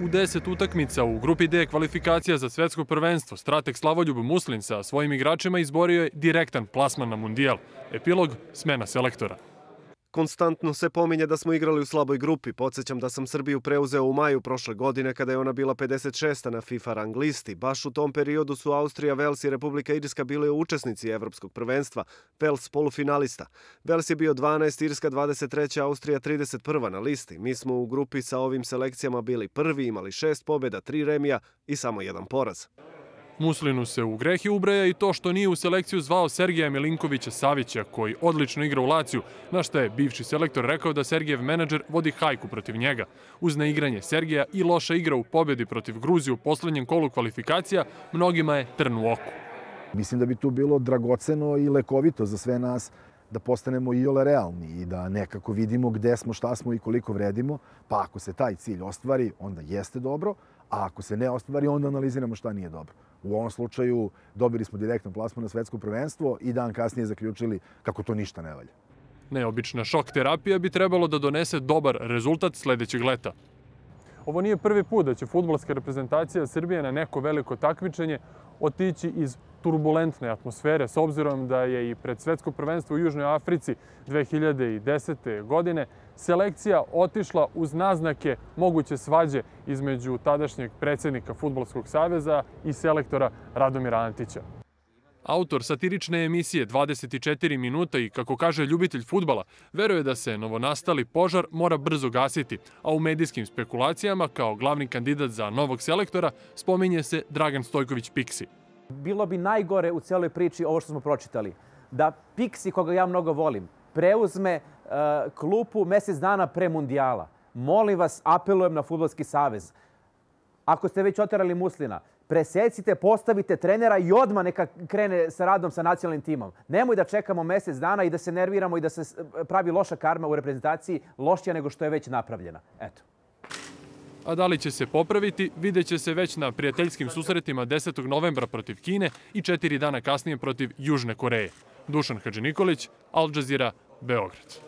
U 10 utakmica u grupi D kvalifikacija za svetsko prvenstvo strateg Slavoljub Muslin sa svojim igračima izborio je direktan plasman na mundijal. Epilog – smena selektora. Konstantno se pominje da smo igrali u slaboj grupi. Podsjećam da sam Srbiju preuzeo u maju prošle godine kada je ona bila 56. na FIFA rang listi. Baš u tom periodu su Austrija, Vels i Republika Irska bile učesnici evropskog prvenstva. Vels polufinalista. Vels je bio 12, Irska 23, Austrija 31. na listi. Mi smo u grupi sa ovim selekcijama bili prvi, imali 6 pobjeda, 3 remija i samo 1 poraz. Muslinu se u grehi ubraja i to što nije u selekciju zvao Sergeja Milinkovića Savića, koji odlično igra u Laciju, na što je bivši selektor rekao da Sergejev menadžer vodi hajku protiv njega. Uz neigranje Sergeja i loša igra u pobjedi protiv Gruzije u poslednjem kolu kvalifikacija, mnogima je trn u oku. Mislim da bi tu bilo dragoceno i lekovito za sve nas da postanemo iole realni i da nekako vidimo gde smo, šta smo i koliko vredimo, pa ako se taj cilj ostvari, onda jeste dobro, a ako se ne ostvari, onda analiziramo šta nije dobro. U ovom slučaju dobili smo direktno plasman na svetsko prvenstvo i dan kasnije zaključili kako to ništa ne valja. Neobična šok terapija bi trebalo da donese dobar rezultat sledećeg leta. Ovo nije prvi put da će fudbalska reprezentacija Srbije na neko veliko takmičenje otići iz turbulentne atmosfere, s obzirom da je i pred svetsko prvenstvo u Južnoj Africi 2010. godine selekcija otišla uz naznake moguće svađe između tadašnjeg predsjednika Fudbalskog saveza i selektora Radomira Antića. Autor satirične emisije 24 minuta i, kako kaže ljubitelj fudbala, veruje da se novonastali požar mora brzo gasiti, a u medijskim spekulacijama kao glavni kandidat za novog selektora spominje se Dragan Stojković Piksi. Bilo bi najgore u celoj priči ovo što smo pročitali. Da Piksi, koga ja mnogo volim, preuzme klupu mjesec dana pre mundijala. Molim vas, apelujem na Fudbalski savez. Ako ste već oterali Muslina, presecite, postavite trenera i odmah neka krene sa radom sa nacionalnim timom. Nemoj da čekamo mjesec dana i da se nerviramo i da se pravi loša karma u reprezentaciji, lošija nego što je već napravljena. Eto. A da li će se popraviti, vidjet će se već na prijateljskim susretima 10. novembra protiv Kine i 4 dana kasnije protiv Južne Koreje. Dušan Hadžinikolić, Al Jazeera, Beograd.